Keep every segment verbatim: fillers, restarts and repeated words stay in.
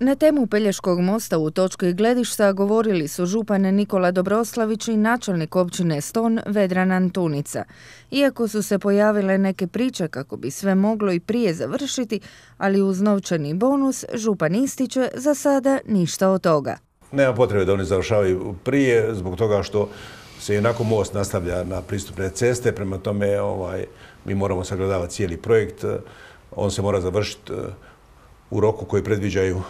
Na temu Pelješkog mosta u točki gledišta govorili su župan Nikola Dobroslavić i načelnik općine Ston Vedran Antunica. Iako su se pojavile neke priče kako bi sve moglo i prije završiti, ali uz novčani bonus, župan ističe za sada ništa od toga. Nema potrebe da oni završavaju prije, zbog toga što se jednako most nastavlja na pristupne ceste, prema tome ovaj, mi moramo sagledavati cijeli projekt, on se mora završiti u roku koji predviđaju e,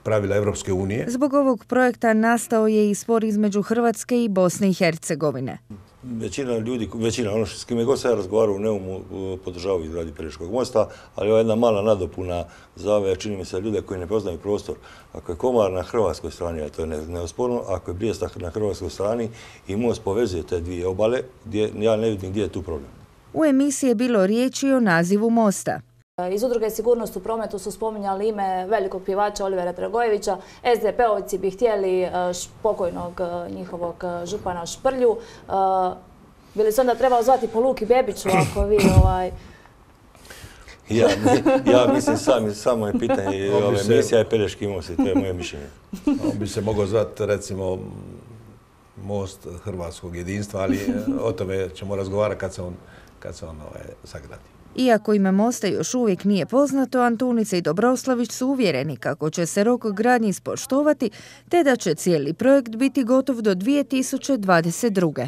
pravila Evropske unije. Zbog ovog projekta nastao je i spor između Hrvatske i Bosne i Hercegovine. Većina ljudi, većina, ono s kime god se ja razgovarao u Neumu, podržavaju izgradnju Pelješkog mosta, ali ovo je jedna mala nadopuna za ove, čini mi se, ljude koji ne poznaju prostor. Ako je Komar na hrvatskoj strani, a to je neosporno, ako je Brijesta na hrvatskoj strani i most povezuje te dvije obale, gdje, ja ne vidim gdje je tu problem. U emisiji je bilo riječi o nazivu mosta. Iz Udruge Sigurnost u prometu su spominjali ime velikog pjevača Olivera Dragojevića. es de pe-ovci bi htjeli pokojnog njihovog župana Šprlju. Bi li se onda trebao zvati po Luki Bebiću ako vi ovaj... Ja, ja mislim sami, samo je pitanje ove emisija je Pelješki most i to je moje mišljenje. On bi se mogao zvati recimo most hrvatskog jedinstva, ali o tome ćemo razgovarati kad se on, kad se on ovaj, sagradi. Iako ime mosta još uvijek nije poznato, Antunica i Dobroslavić su uvjereni kako će se rok gradnje ispoštovati te da će cijeli projekt biti gotov do dvije tisuće dvadeset druge.